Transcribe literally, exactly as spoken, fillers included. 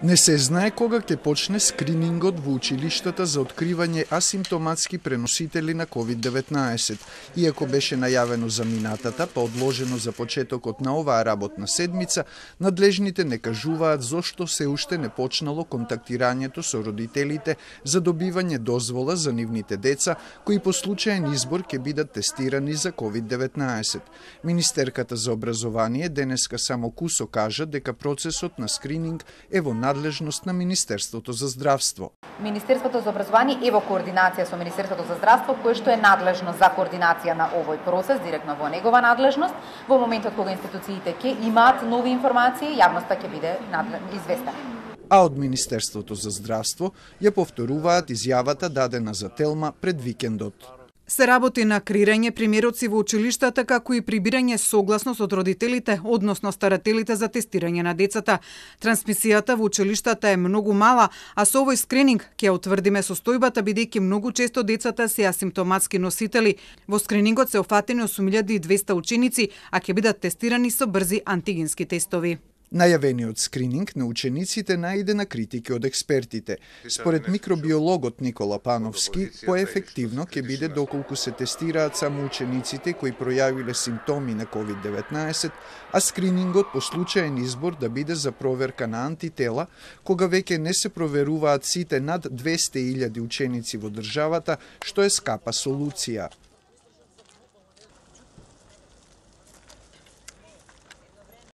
Не се знае кога ќе почне скринингот во училиштата за откривање асимптоматски преносители на ковид деветнаесет. Иако беше најавено за минатата, па одложено за почетокот на оваа работна седмица, надлежните не кажуваат зошто се уште не почнало контактирањето со родителите за добивање дозвола за нивните деца, кои по случаен избор ќе бидат тестирани за ковид деветнаесет. Министерката за образование денеска само кусо кажа дека процесот на скрининг е во надлежност на Министерството за здравство. Министерството за образование е во координација со Министерството за здравство, кое што е надлежно за координација на овој процес, директно во негова надлежност. Во моментот кога институциите ќе имаат нови информации, јавноста ќе биде известена. А од Министерството за здравство ја повторуваат изјавата дадена за Телма пред викендот. Се работи на креирање примероци во училиштата, како и прибирање согласност од родителите, односно старателите за тестирање на децата. Трансмисијата во училиштата е многу мала, а со овој скрининг ќе утврдиме состојбата, бидејќи многу често децата се асимптоматски носители. Во скринингот се офатени осум илјади и двесте ученици, а ќе бидат тестирани со брзи антигенски тестови. Најавениот скрининг на учениците најде на критики од експертите. Според микробиологот Никола Пановски, поефективно ќе биде доколку се тестираат само учениците кои пројавиле симптоми на ковид деветнаесет, а скринингот по случаен избор да биде за проверка на антитела, кога веќе не се проверуваат сите над двесте илјади ученици во државата, што е скапа солуција.